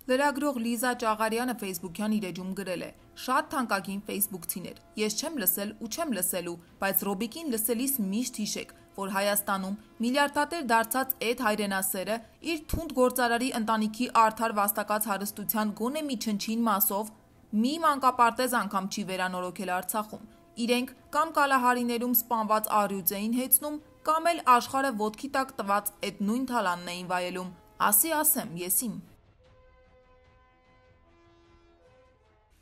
Լրագրող Լիզա Ճաղարյանը Facebook-յան իր էջում գրել է. «Շատ թանկագին ֆեյսբուքցիներ, ես չեմ լսել ու չեմ լսելու, բայց Ռոբիկին լսելիս միշտ հիշեք, որ Հայաստանում միլիարդատեր դարձած էդ հայրենասերը իր թունդ գործարարի ընտանիքի արդար վաստակած հարստության գոնե մի չնչին մասով մի մանկապարտեզ անգամ չի վերանորոգել Արցախում։ Իրենք կամ կալահարիներում սպանված առյուծ էին հեծնում, կամ էլ աշխարհը ոտքի տակ տված էդ նույն թալանն էին վայելում։ Ասի ասեմ, ես իմ»։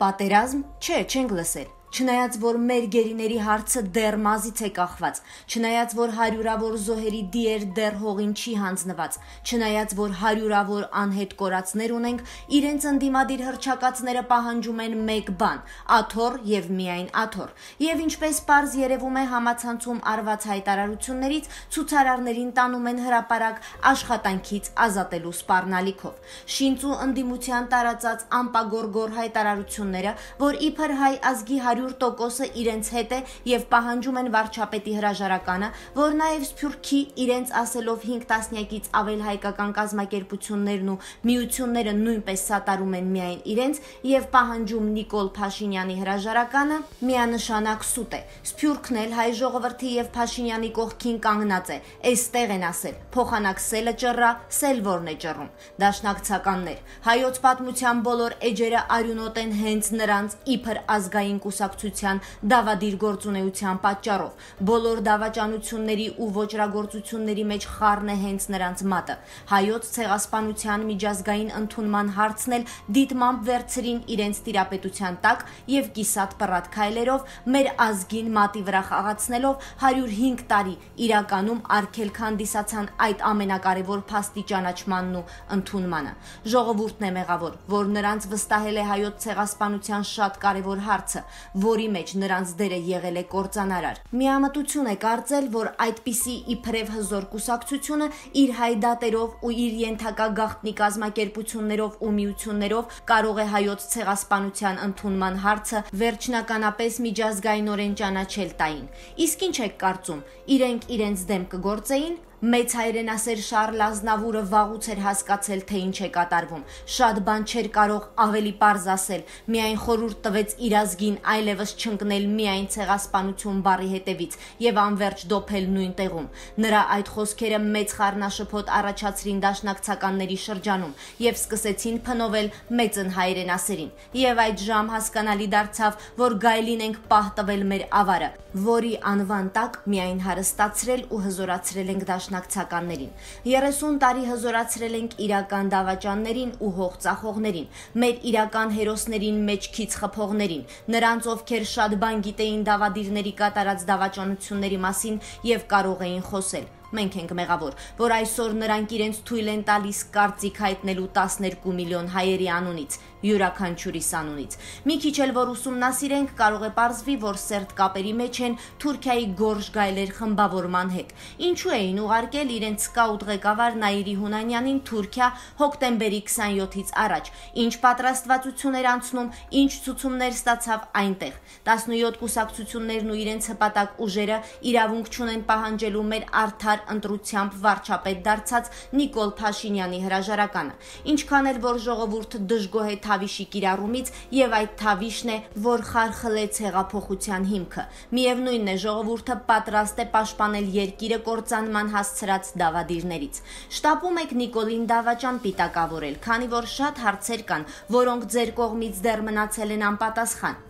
Պատերազմ, չէ, չենք լսել։ Չնայած որ մեր գերիների հարցը դեռ մազից է կախված, չնայած որ հարյուրավոր զոհերի դիեր դեռ հողին չի հանձնված, չնայած որ հարյուրավոր անհետ կորածներ ունենք, իրենց ընդդիմադիր հռչակածները պահանջում են մեկ բան՝ աթոռ եւ միայն աթոռ։ Եվ ինչպես պարզ երևում է համացանցում արված հայտարարություններից, ցուցարարներին տանում են հրապարակ աշխատանքից ազատելու սպառնալիքով։ Շինծ ու ընդդիմության տարածած անպագորգոր հայտարարությունները, որ իբր հայ ազգի 100%-ը իրենց հետ է եւ պահանջում են վարչապետի հրաժարականը, որ նաեւ Սփյուռքի իրենց ասելով 5 տասնյակից ավել հայկական կազմակերպություններն ու միությունները նույնպես սատարում են միայն իրենց եւ պահանջում Նիկոլ Փաշինյանի հրաժարականը, միանշանակ սուտ է։ Սփյուռքն էլ հայ ժողովրդի եւ Փաշինյանի կողքին կանգնած է։ Էստեղ են ասել. փոխանակ սելը ճռա, սել որն է ճռում։ Դաշնակցականներ, հայոց պատմության բոլոր էջերը արյունոտ են հենց նրանց իբր ազգային կուսակցության դավադիր գործունեության պատճառով։ Բոլոր դավաճանությունների ու ոճրագործությունների մեջ խառն է հենց նրանց մատը։ Հայոց ցեղասպանության միջազգային ընդունման հարցն էլ դիտմամբ վերցրին իրենց տիրապետության տակ եւ կիսատ պռատ քայլերով մեր ազգին մատի վրա խաղացնելով 105 տարի իրականում արգելք հանդիսացան այդ ամենակարևոր փաստի ճանաչմանն ու ընդունմանը։ Ժողովուրդն է մեղավոր, որ նրանց վստահել է հայոց ցեղասպանության շատ կարևոր հարցը, որի մեջ նրանց դերը եղել է կործանարար։ Միամտություն է կարծել, որ այդպիսի իբրև հզոր կուսակցությունը իր հայդատերով ու իր ենթակա գաղտնի կազմակերպություններով ու միություններով կարող է հայոց ցեղասպանության ընդունման հարցը վերջնականապես միջազգայինորեն ճանաչել տային։ Իսկ ինչ եք կարծում, իրենք իրենց դեմ կգործեին։ Մեծ հայրենասեր Շարլ Ազնավուրը վաղուց էր հասկացել, թե ինչ է կատարվում։ Շատ բան չէր կարող ավելի պարզ ասել, միայն խորհուրդ տվեց իր ազգին այլևս չընկնել միայն ցեղասպանություն բառի հետևից եւ անverջ դոփել նույն տեղում։ Նրա այդ խոսքերը մեծ խառնաշփոթ առաջացրին դաշնակցականների շրջանում եւ սկսեցին փնովել մեծն հայրենասերին։ Եվ այդ ժամ հասկանալի դարձավ, որ գայլին ենք պահ տվել մեր ավարը, որի անվան տակ միայն հարստացրել ու հզորացրել ենք դաշնակցականներին։ 30 տարի հզորացրել ենք իրական դավաճաններին ու հող ծախողներին, մեր իրական հերոսներին մեջքից խփողներին, նրանց ովքեր շատ բան գիտեին դավադիրների կատարած դավաճանությունների մասին եւ կարող էին խոսել։ Մենք ենք մեղավոր, որ այսօր նրանք իրենց թույլ են տալիս կարծիք հայտնելու 12 միլիոն հայերի անունից, յուրաքանչյուրիս անունից։ Մի քիչ էլ որ ուսումնասիրենք, կարող է պարզվի, որ սերտ կապերի մեջ են Թուրքիայի գորշ գայլեր խմբավորման հետ։ Ինչու էին ուղարկել իրենց սկաուտ ղեկավար Նաիրի Հունանյանին Թուրքիա հոկտեմբերի 27-ից առաջ, ինչ պատրաստվածություն էր անցնում, ինչ ցուցումներ ստացավ այնտեղ։ 17 կուսակցություններն ու իրենց հպատակ ուժերը իրավունք չունեն պահանջելու մեր արդար ընտրությամբ վարչապետ դարձած Նիկոլ Փաշինյանի հրաժարականը։ Ինչքան էլ որ ժողովուրդը դժգոհ է Թավիշի կիրառումից եւ այդ Թավիշն է, որ խարխլեց հեղափոխության հիմքը։ Միևնույնն է, ժողովուրդը պատրաստ է պաշտպանել երկիրը կործանման հասցրած դավադիրներից։ Շտապում եք Նիկոլին դավաճան պիտակավորել, քանի որ շատ հարցեր կան, որոնք ձեր կողմից դեռ մնացել են անպատասխան։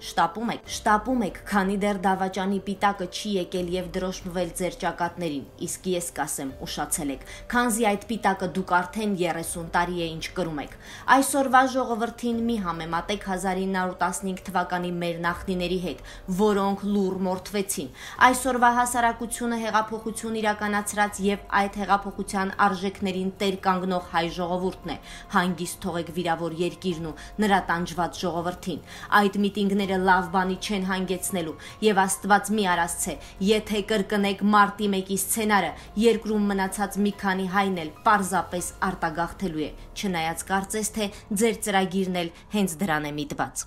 Շտապում եք, քանի դեռ դավաճանի պիտակը չի եկել եւ դրոշմվել ձեր ճակատներին։ Իսկ ես կասեմ, ուշացել եք, քանզի այդ պիտակը դուք արդեն 30 տարի է ինչ կրում եք։ Այսօրվա ժողովրդին մի համեմատեք 1915 թվականի մեր նախնիների հետ, որոնք լուռ մորթվեցին։ Այսօրվա հասարակությունը հեղափոխություն իրականացրած եւ այդ հեղափոխության արժեքներին տեր կանգնող հայ ժողովուրդն է։ Հանգիստ թողեք վիրավոր երկիրն ու նրա տանջված ժողովրդին։ Այդ միտինգները լավ բանի չեն հանգեցնելու եւ Աստված մի արասցե, եթե կրկնեք մարտի 1-ի սցենարը, երկրում մնացած մի քանի հայն էլ պարզապես արտագաղթելու է, չնայած կարծես թե ձեր ծրագիրն էլ հենց դրան է միտված։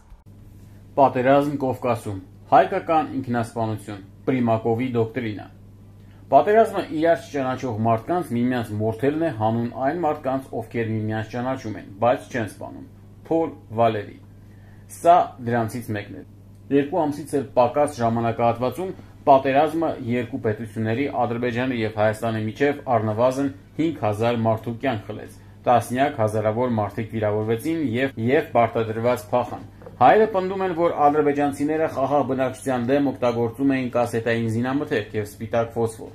Պատերազմ Կովկասում, հայկական ինքնասպանություն, Պրիմակովի դոկտրինա։ Պատերազմը իրար չճանաչող մարդկանց միմյանց մորթելն է հանուն այն մարդկանց, ովքեր միմյանց ճանաչում են, բայց չեն սպանում։ Փոլ Վալերի։ Սա դրանցից մեկն է։ 2 ամսից էլ պակաս ժամանակահատվածում պատերազմը երկու պետությունների Ադրբեջանի եւ Հայաստանի միջև առնվազն 5000 մարդու կյանք խլեց, տասնյակ հազարավոր մարդիկ վիրավորվեցին եւ պարտադրված փախան։ Հայերը պնդում են, որ ադրբեջանցիները խաղաղ բնակչության դեմ օգտագործում էին կասետային զինամթերք եւ սպիտակ ֆոսֆոր։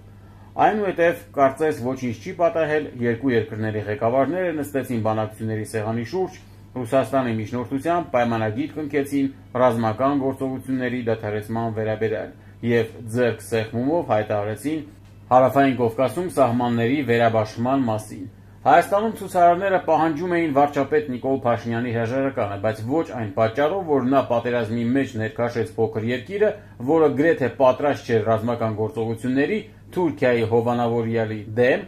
Այնուհետև կարծես ոչինչ չի պատահել, երկու երկրների ղեկավարները նստեցին բանակցությունների սեղանի շուրջ, Ռուսաստանի միջնորդությամբ պայմանագիր կնքեցին ռազմական գործողությունների դադարեցման վերաբերյալ եւ ձեռք սեղմումով հայտարարեցին Հարավային Կովկասում սահմանների վերաբաշխման մասին։ Հայաստանում ցուցարարները պահանջում էին վարչապետ Նիկոլ Փաշինյանի հրաժարականը, բայց ոչ այն պատճառով, որ նա պատերազմի մեջ ներքաշեց փոքր երկիրը, որը գրեթե պատրաստ չէր ռազմական գործողությունների Թուրքիայի հովանավորյալի դեմ,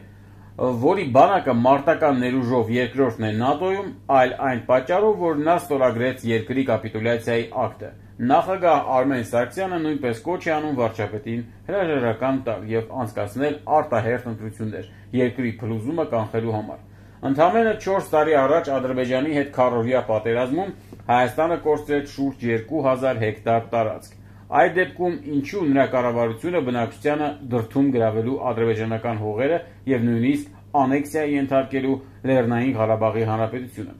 որի բանակը մարտական ներուժով երկրորդն է ՆԱՏՕ-ում, այլ այն պատճառով, որ նա ստորագրեց երկրի կապիտուլյացիայի ակտը։ Նախագահ Արմեն Սարգսյանը նույնպես կոչ է անում վարչապետին հրաժարական տալ եւ անցկացնել արտահերթ ընտրություններ երկրի փլուզումը կանխելու համար։ Ընդամենը 4 տարի առաջ Ադրբեջանի հետ քառօրյա պատերազմում Հայաստանը կորցրեց շուրջ 2000 հեկտար տարածք։ Այդ դեպքում ինչու նրա կառավարությունը բնակչությանը դրդում գրավելու ադրբեջանական հողերը եւ նույնիսկ անեքսիայի ենթարկելու Լեռնային Ղարաբաղի Հանրապետությունը։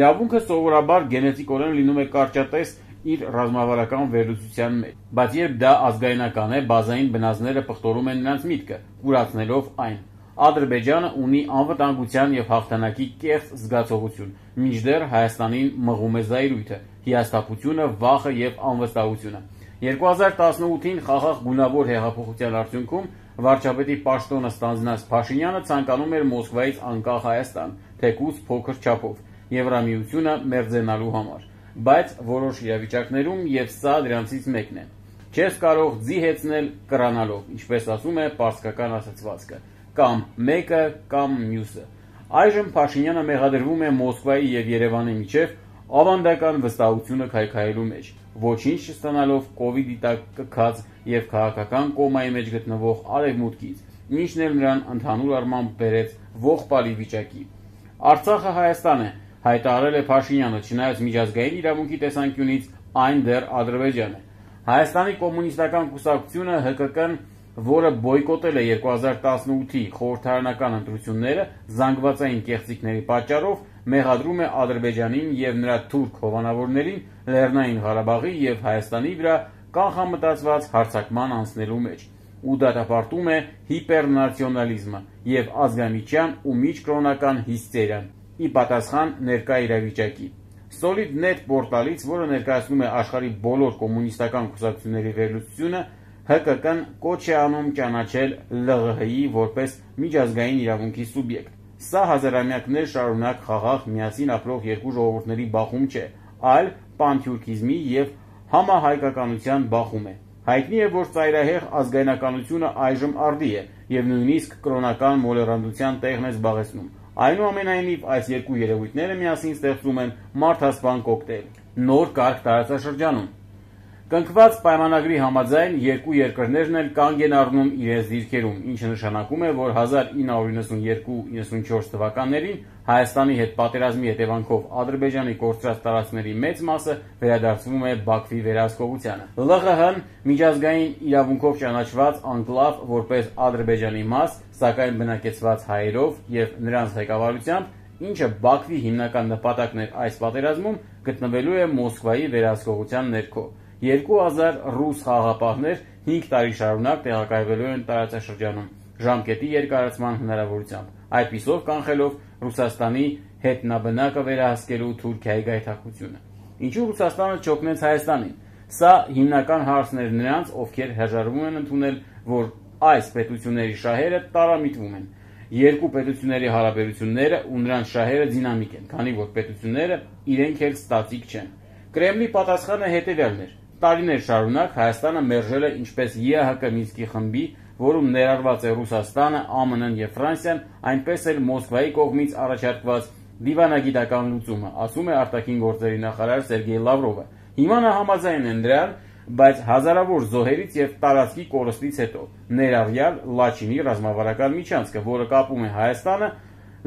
Իրավունքը սովորաբար գենետիկորեն լինում է կարճատես իր ռազմավարական վերլուծության մեջ, բայց երբ դա ազգայնական է, բազային բնազդները պղտորում են նրանց միտքը, կուրացնելով այն։ Ադրբեջանը ունի անվտանգության եւ հաղթանակի կեղծ զգացողություն, մինչդեռ Հայաստանին մղում է զայրույթը, հիասթափությունը, վախը եւ անվստահությունը։ 2018-ին խաղաղ գունավոր հեղափոխության արդյունքում վարչապետի պաշտոնը ստանձնած Փաշինյանը ցանկանում էր Մոսկվայից անկախ Հայաստան, թեկուզ փոքր չափով, Եվրամիությունը մերձենալու համար, բայց որոշ իրավիճակներում եւ սա դրանցից մեկն է։ Չես կարող ձի հեծնել կրանալով, ինչպես ասում է պարսկական ասացվածքը, կամ մեկը կամ մյուսը։ Այժմ Փաշինյանը մեղադրվում է Մոսկվայի եւ Երևանի միջև ավանդական վստահությունը քայքայելու մեջ, ոչինչ չստանալով կոവിഡ്ի տակ կքած եւ քաղաքական կոմայի մեջ գտնվող արևմուտքից, ինչն էլ նրան ընդհանուր առմամբ բերեց ողբալի վիճակի։ Արցախը Հայաստան է, հայտարարել է Փաշինյանը, չնայած միջազգային իրավունքի տեսանկյունից այն դեռ Ադրբեջան է։ Հայաստանի կոմունիստական կուսակցությունը ՀԿԿ-ն, որը բոյկոտել է 2018-ի խորհրդարանական ընտրությունները զանգվածային կեղծիքների պատճառով, մեղադրում է Ադրբեջանին եւ նրա թուրք հովանավորներին Լեռնային Ղարաբաղի եւ Հայաստանի վրա կանխամտածված հարձակման անցնելու մեջ ու դատապարտում է հիպերնացիոնալիզմը եւ ազգամիջյան ու միջկրոնական հիստերիան ի պատասխան ներկա իրավիճակի։ Solid.net պորտալից, որը ներկայացնում է աշխարհի բոլոր կոմունիստական կուսակցությունների վերլուծությունը, ՀԿԿ-ն կոչ է անում ճանաչել ԼՂՀ-ի որպես միջազգային իրավունքի սուբյեկտ։ Սա հազարամյակներ շարունակ խաղաղ միասին ապրող երկու ժողովուրդների բախում չէ, այլ պանթյուրքիզմի եւ համահայկականության բախում է։ Հայտնի է, որ ծայրահեղ ազգայնականությունը այժմ արդի է եւ նույնիսկ կրոնական մոլեռանդության տեղն է զբաղեցնում։ Այնուամենայնիվ, այս երկու երևույթները միասին ստեղծում են մարդասպան կոկտեյլ։ Նոր կարգ տարածաշրջանում։ Կնքված պայմանագրի համաձայն երկու երկրներն էլ կանգ են առնում իրենց դիրքերում, ինչը նշանակում է, որ 1992-94 թվականներին Հայաստանի հետ պատերազմի հետևանքով Ադրբեջանի կորցրած տարածքների մեծ մասը վերադարձվում է Բաքվի վերահսկողությանը։ ԼՂՀ-ն միջազգային իրավունքով ճանաչված անկլավ որպես Ադրբեջանի մաս, սակայն բնակեցված հայերով եւ նրանց ղեկավարությամբ, ինչը Բաքվի հիմնական նպատակն էր այս պատերազմում, գտնվելու է Մոսկվայի վերահսկողության ներքո։ 2000 ռուս խաղաղապահներ 5 տարի շարունակ տեղակայվելու են տարածաշրջանում ժամկետի երկարացման հնարավորությամբ, այդպիսով կանխելով Ռուսաստանի հետնաբնակը վերահսկելու Թուրքիայի գայթակղությունը։ Ինչու Ռուսաստանը չօգնեց Հայաստանին։ Սա հիմնական հարցն էր նրանց, ովքեր հրաժարվում են ընդունել, որ այս պետությունների շահերը տարամիտվում են։ Երկու պետությունների հարաբերությունները ու նրանց շահերը դինամիկ են, քանի որ պետությունները իրենք էլ ստատիկ չեն։ Կրեմլի պատասխանը հետևյալն էր. տարիներ շարունակ Հայաստանը մերժել է ինչպես ԵԱՀԿ Մինսկի խմբի, որում ներառված է Ռուսաստանը, ԱՄՆ-ն եւ Ֆրանսիան, այնպես էլ Մոսկվայի կողմից առաջարկված դիվանագիտական լուծումը, ասում է արտաքին գործերի նախարար Սերգեյ Լավրովը։ Հիմա նա համաձայն է նրան, բայց հազարավոր զոհերից եւ տարածքի կորստից հետո, ներառյալ Լաչինի ռազմավարական միջանցքը, որը կապում է Հայաստանը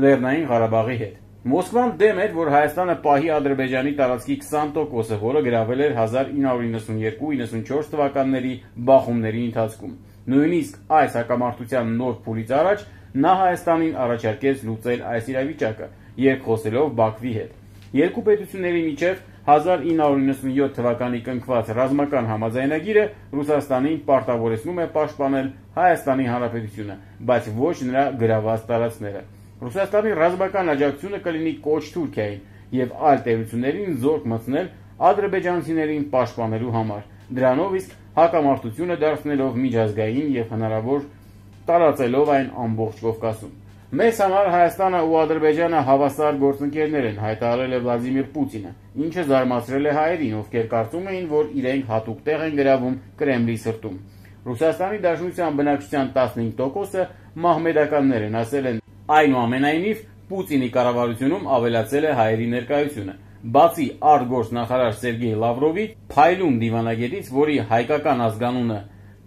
Լեռնային Ղարաբաղի հետ։ Մոսկվան դեմ էր, որ Հայաստանը պահի Ադրբեջանի տարածքի 20%-ը, որը գրավել էր 1992-94 թվականների բախումների ընթացքում։ Նույնիսկ այս հակամարտության նոր փուլից առաջ նա Հայաստանին առաջարկեց լուծել այս իրավիճակը, երկխոսելով Բաքվի հետ։ Երկու պետությունների միջև 1997 թվականի կնքված ռազմական համաձայնագիրը Ռուսաստանին պարտավորեցնում է պաշտպանել Հայաստանի Հանրապետությունը, բայց ոչ նրա գրաված տարածքները։ Ռուսաստանի ռազմական աջակցությունը կլինի կոչ Թուրքիային եւ այլ տերություններին զորք մտցնել ադրբեջանցիներին պաշտպանելու համար, դրանով իսկ հակամարտությունը դարձնելով միջազգային եւ հնարավոր տարածելով այն ամբողջ Կովկասում։ Մեզ համար Հայաստանը ու Ադրբեջանը հավասար գործընկերներ են, հայտարարել է Վլադիմիր Պուտինը, ինչը զարմացրել է հայերին, ովքեր կարծում էին, որ իրենք հատուկ տեղ են գրավում Կրեմլի սրտում։ Ռուսաստանի Դաշնության բնակչության 15%-ը մահմեդականներ են, ասել են։ Այնուամենայնիվ, Պուտինի կառավարությունում ավելացել է հայերի ներկայությունը։ Բացի արտգործնախարար Սերգեյ Լավրովի փայլուն դիվանագետից, որի հայկական ազգանունը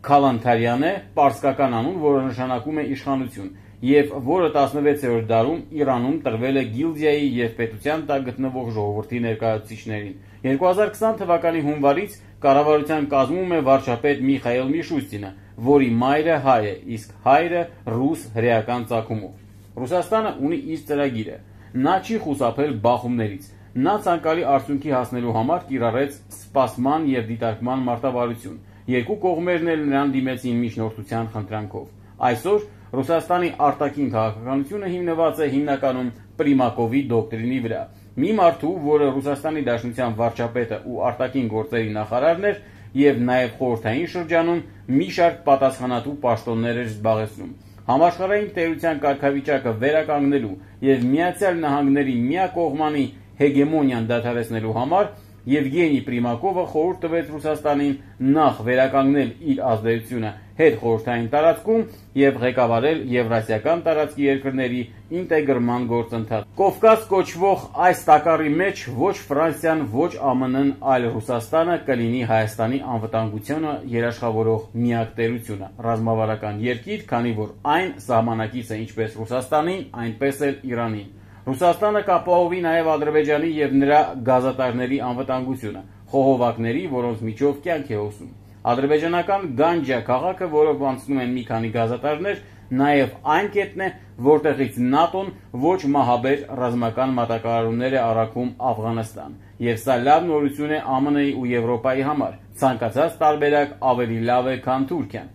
Քալանթարյան է, պարսկական անուն, որը նշանակում է իշխանություն, եւ որը 16-րդ դարում Իրանում տրվել է գիլդիայի եւ պետության տակ գտնվող ժողովրդի ներկայացուցիչներին։ 2020 թվականի հունվարից կառավարության կազմում է վարչապետ Միխայել Միշուստինը, որի մայրը հայ է, իսկ հայրը ռուս հրեական ծագումով։ Ռուսաստանը ունի իր ծրագիրը։ Նա չի խուսափել բախումներից։ Նա ցանկալի արդյունքի հասնելու համար կիրառեց սպասման եւ դիտարկման մարտավարություն։ Երկու կողմերն էլ նրան դիմեցին միջնորդության խնդրանքով։ Այսօր Ռուսաստանի արտաքին քաղաքականությունը հիմնված է հիմնականում Պրիմակովի դոկտրինի վրա։ Մի մարդու, որը Ռուսաստանի Դաշնության վարչապետը ու արտաքին գործերի նախարարն էր եւ նաեւ խորհրդային շրջանում մի շարք պատասխանատու պաշտոններ էր զբաղեցնում։ Համաշխարհային տերության կարգավիճակը վերականգնելու եւ Միացյալ Նահանգների միակողմանի հեգեմոնիան դադարեցնելու համար Եվգենի Պրիմակովը խորհուրդ տվեց Ռուսաստանին նախ վերականգնել իր ազդեցությունը հետխորհրդային տարածքում եւ ղեկավարել եվրասիական տարածքի երկրների ինտեգրման գործընթաց։ Կովկաս կոչվող այս տակառի մեջ ոչ Ֆրանսիան, ոչ ԱՄՆ-ն, այլ Ռուսաստանը կլինի Հայաստանի անվտանգությունը երաշխավորող միակ տերությունը, ռազմավարական երկիր, քանի որ այն սահմանակից է ինչպես Ռուսաստանին, այնպես էլ Իրանին։ Ռուսաստանը կապահովի նաև Ադրբեջանի եւ նրա գազատարների անվտանգությունը, խողովակների, որոնց միջով կյանք է հոսում։ Ադրբեջանական Գանջա քաղաքը, որով անցնում են մի քանի գազատարներ, նաև այն կետն է, որտեղից ՆԱՏՕ-ն ոչ մահաբեր ռազմական մատակարարումներ է առաքում Աֆղանստան, եւ սա լավ նորություն է ԱՄՆ-ի ու Եվրոպայի համար։ Ցանկացած տարբերակ ավելի լավ է, քան Թուրքիան։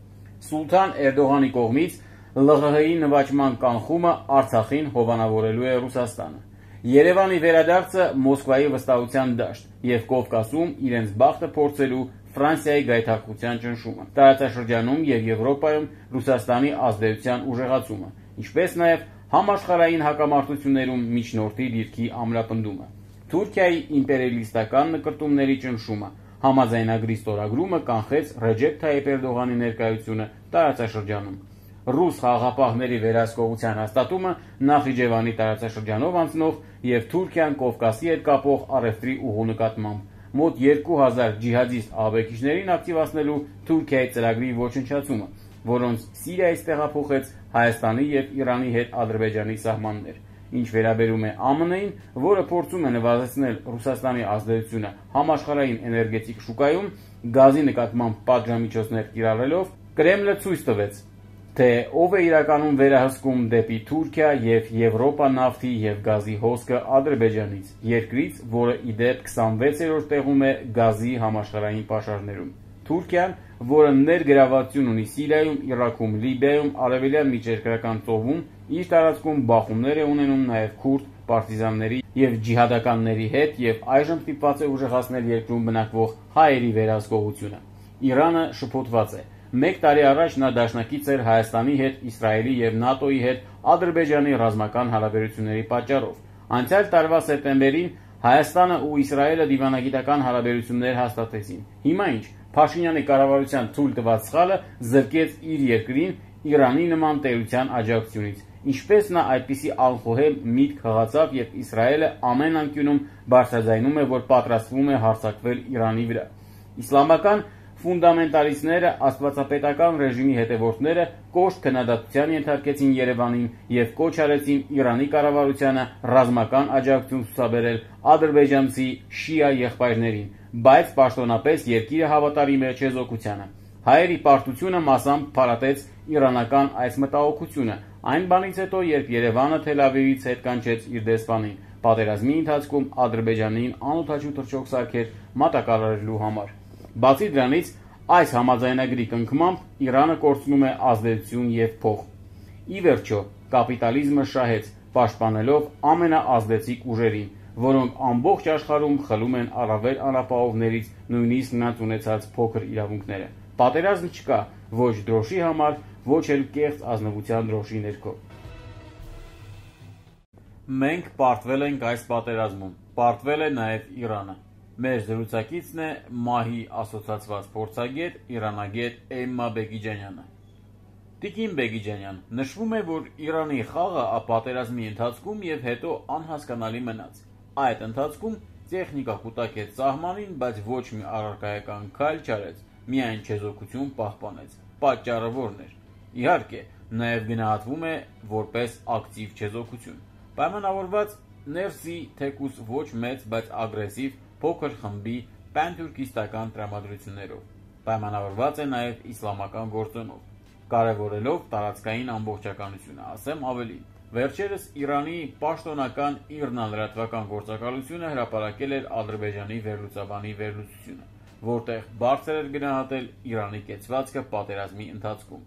Սուլթան Էրդողանի կողմից ԼՂՀ-ի նվաճման կանխումը Արցախին հովանավորելու է Ռուսաստանը։ Երևանի վերադարձը Մոսկվայի վստահության դաշտ եւ Կովկասում իրենց բախտը փորձելու Ֆրանսիայի գայթակղության ճնշումը, տարածաշրջանում եւ Եվրոպայում Ռուսաստանի ազդեցության ուժեղացումը, ինչպես նաեւ համաշխարհային հակամարտություններում միջնորդի դիրքի ամրապնդումը, Թուրքիայի իմպերիալիստական նկրտումների ճնշումը, համաձայնագրի ստորագրումը կանխեց Ռեջեփ Թայիփ Էրդողանի ներկայությունը տարածաշրջանում։ Ռուս խաղաղապահների վերահսկողության հաստատումը Նախիջևանի տարածաշրջանով անցնող եւ Թուրքիան Կովկասի հետ կապող առևտրի ուղու նկատմամբ մոտ 2000 ջիհադիստ ահաբեկիչներին ակտիվացնելու Թուրքիայի ծրագրի ոչնչացումը, որոնց Սիրիայից տեղափոխեց Հայաստանի եւ Իրանի հետ Ադրբեջանի սահմաններ։ Ինչ վերաբերում է ԱՄՆ-ին, որը փորձում է նվազեցնել Ռուսաստանի ազդեցությունը համաշխարհային էներգետիկ շուկայում, գազի նկատմամբ պատժամիջոցներ կիրառելով, Կրեմլը ցույց տվեց, թե ով է իրականում վերահսկում դեպի Թուրքիա եւ Եվրոպա նավթի եւ գազի հոսքը Ադրբեջանից, երկրից, որը ի դեպ 26-րդ տեղում է գազի համաշխարհային պաշարներում։ Թուրքիան, որը ներգրավվածություն ունի Սիրիայում, Իրաքում, Լիբիայում, Արևելյան Միջերկրական ծովում, իր տարածքում բախումներ է ունենում նաեւ քուրդ պարտիզանների եւ ջիհադականների հետ եւ այժմ ստիպված է ուժեղացնել երկրում բնակվող հայերի վերահսկողությունը։ Իրանը շփոթված է։ Մեկ տարի առաջ նա դաշնակից էր Հայաստանի հետ, Իսրայելի եւ ՆԱՏՕ-ի հետ Ադրբեջանի ռազմական հարաբերությունների պատճառով։ Անցյալ տարվա սեպտեմբերին Հայաստանը ու Իսրայելը դիվանագիտական հարաբերություններ հաստատեցին։ Հիմա ինչ, Փաշինյանի կառավարության թույլ տված սխալը զրկեց իր երկրին Իրանի նման տերության աջակցությունից։ Ինչպես նա այդպիսի անխոհեմ միտք հղացավ, եւ Իսրայելը ամեն անկյունում բարձրաձայնում է, որ պատրաստվում է հարձակվել Իրանի վրա։ Իսլամական Ֆունդամենտալիստները, աստվածապետական ռեժիմի հետևորդները կոշտ քննադատության ենթարկեցին Երևանին և կոչ արեցին Իրանի կառավարությանը ռազմական աջակցություն ցուցաբերել ադրբեջանցի շիա եղբայրներին, բայց պաշտոնապես երկիրը հավատարիմ էր չեզոքությանը։ Հայերի պարտությունը մասամբ փարատեց իրանական այս մտահոգությունը այն բանից հետո, երբ Երևանը Թել Ավիվից հետ կանչեց իր դեսպանին, պատերազմի ընթացքում Ադրբեջանին անօդաչու թռչող սարքեր մատակարարելու համար։ Բացի դրանից, այս համաձայնագրի կնքմամբ Իրանը կորցնում է ազդեցություն և փող։ Ի վերջո, կապիտալիզմը շահեց, պաշտպանելով ամենաազդեցիկ ուժերին, որոնք ամբողջ աշխարհում խլում են առավել անապահովներից նույնիսկ նրանց ունեցած փոքր իրավունքները։ Պատերազմ չկա ոչ դրոշի համար, ոչ էլ կեղծ ազնվության դրոշի ներքո։ Մենք պարտվել ենք այս պատերազմում, պարտվել է նաև Իրանը։ Մեր զրուցակիցն է ՄԱՀ-ի ասոցացված փորձագետ, իրանագետ Էմմա Բեգիջանյանը։ Տիկին Բեգիջանյան, նշվում է, որ Իրանի խաղը պատերազմի ընթացքում և հետո անհասկանալի մնաց։ Այդ ընթացքում տեխնիկա կուտակեց սահմանին, բայց ոչ մի առարկայական քայլ չարեց, միայն չեզոքություն պահպանեց։ Պատճառը որն էր։ Իհարկե, նաև գնահատվում է որպես ակտիվ չեզոքություն, պայմանավորված ներսի թեկուզ ոչ մեծ, բայց ագրեսիվ փոքր խմբի պանթուրքիստական տրամադրություններով, պայմանավորված է նաև իսլամական գործոնով, կարևորելով տարածքային ամբողջականությունը, ասեմ ավելին։ Վերջերս Իրանի պաշտոնական ԻՌՆԱ լրատվական գործակալությունը հրապարակել էր Ադրբեջանի վերլուծաբանի վերլուծությունը, որտեղ բարձր էր գնահատել Իրանի կեցվածքը պատերազմի ընթացքում։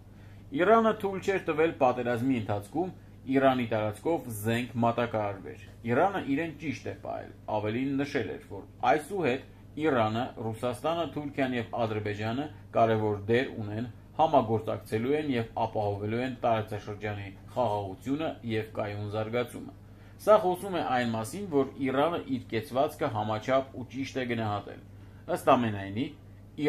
Իրանը թույլ չէր տվել պատերազմի ընթացքում Իրանի տարածքով զենք մատակարարվեր։ Իրանը իրեն ճիշտ է պահել, ավելին նշել էր, որ այսուհետ Իրանը, Ռուսաստանը, Թուրքիան և Ադրբեջանը կարևոր դեր ունեն, համագործակցելու են և ապահովելու են տարածաշրջանի խաղաղությունը և կայուն զարգացումը։ Սա խոսում է այն մասին, որ Իրանը իր կեցվածքը համաչափ ու ճիշտ է գնահատել։ Ըստ ամենայնի,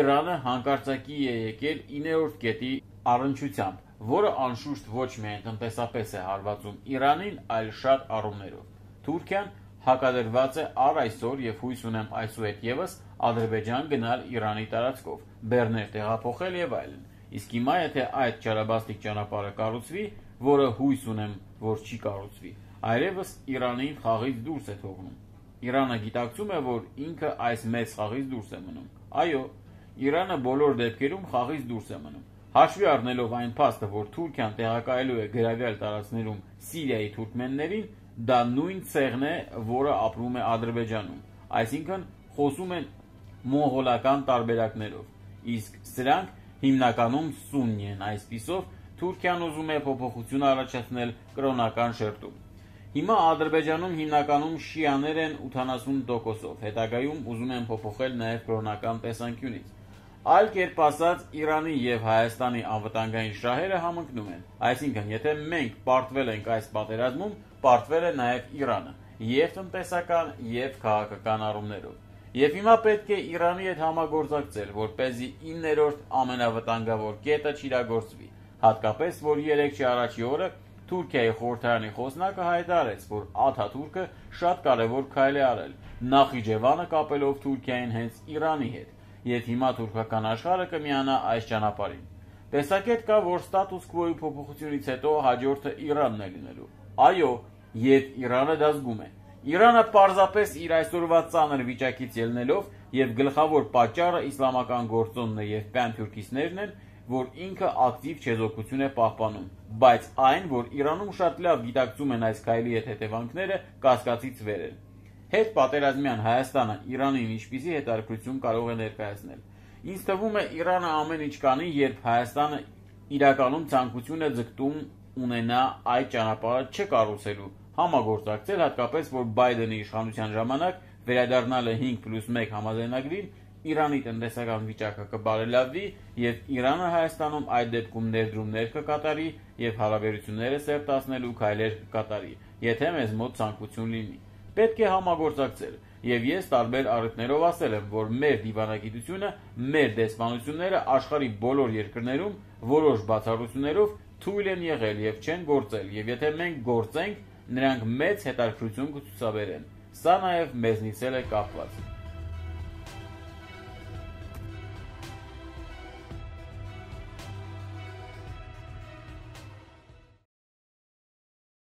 Իրանը հանկարծակի է եկել 9-րդ կետի առնչությամբ, որը անշուշտ ոչ միայն տնտեսապես է հարվածում Իրանին, այլ շատ առումներով։ Թուրքիան հակադրված է առ այսօր և հույս ունեմ այսուհետ ևս Ադրբեջան գնալ Իրանի տարածքով, բեռներ տեղափոխել և այլն։ Իսկ հիմա եթե այդ չարաբաստիկ ճանապարհը կառուցվի, որը հույս ունեմ, որ չի կառուցվի, այլևս Իրանին խաղից դուրս է թողնում։ Իրանը գիտակցում է, որ ինքը այս մեծ խաղից դուրս է մնում։ Այո, Իրանը բոլոր դեպքերում խաղից դուրս է մնում։ Հաշվի առնելով այն փաստը, որ Թուրքիան տեղակայելու է գրավյալ տարածքներում Սիրիայի թուրքմեններին, դա նույն ցեղն է, որը ապրում է Ադրբեջանում, այսինքն խոսում են մոնղոլական տարբերակներով, իսկ սրանք հիմնականում սուննի են, այսպիսով Թուրքիան ուզում է փոփոխություն առաջացնել կրոնական շերտում։ Հիմա Ադրբեջանում հիմնականում շիաներ են 80%-ով, հետագայում ուզում են փոփոխել նաև կրոնական տեսանկյունից։ Այլ կերպ ասած, Իրանի և Հայաստանի անվտանգային շահերը համընկնում են, այսինքն եթե մենք պարտվել ենք այս պատերազմում, պարտվել է նաև Իրանը, և տնտեսական, և քաղաքական առումներով։ Եվ հիմա պետք է Իրանի հետ համագործակցել, որպեսզի 9-րդ ամենավտանգավոր կետը չիրագործվի, հատկապես, որ 3 առաջի օրը Թուրքիայի խորհրդարանի խոսնակը հայտարարեց, որ Աթաթուրքը շատ կարևոր քայլ է արել, Նախիջևանը կապելով Թուրքիային հենց Իրանի հետ, և հիմա թուրքական աշխարհը կմիանա այս ճանապարհին։ Տեսակետ կա, որ ստատուս քվոյի փոփոխությունից հետո հաջորդը Իրանն է լինելու։ Այո, և Իրանը դա զգում է։ Իրանը պարզապես իր այսօրվա ծանր վիճակից ելնելով և գլխավոր պատճառը իսլամական գործոնն է և պանթուրքիստներն են, որ ինքը ակտիվ չեզոքություն է պահպանում, բայց այն, որ Իրանում շատ լավ գիտակցում են այս քայլի հետ հետևանքները, կասկածից վեր են։ Հետ պատերազմյան Հայաստանը Իրանին ինչպիսի հետաքրքրություն կարող է ներկայացնել։ Ինձ թվում է Իրանը ամեն ինչ կանի, երբ Հայաստանը իրականում ցանկություն է ձգտում ունենա այդ ճանապարհը չկառուցելու, համագործակցել, հատկապես որ Բայդենի իշխանության ժամանակ վերադառնալը 5+1 համաձայնագրին Իրանի տնտեսական վիճակը կբարելավի և Իրանը Հայաստանում այդ դեպքում ներդրումներ կկատարի և հարաբերությունները սերտացնելու քայլեր կկատարի, եթե մեզ մոտ ցանկություն լինի։ Պետք է համագործակցել, և ես տարբեր առիթներով ասել եմ, որ մեր դիվանագիտությունը, մեր դեսպանությունները աշխարհի բոլոր երկրներում որոշ բացառություններով թույլ են եղել և չեն գործել, և եթե մենք գործենք, նրանք մեծ հետաքրքրություն կցուցաբերեն։ Սա նաև մեզնից էլ է կապված։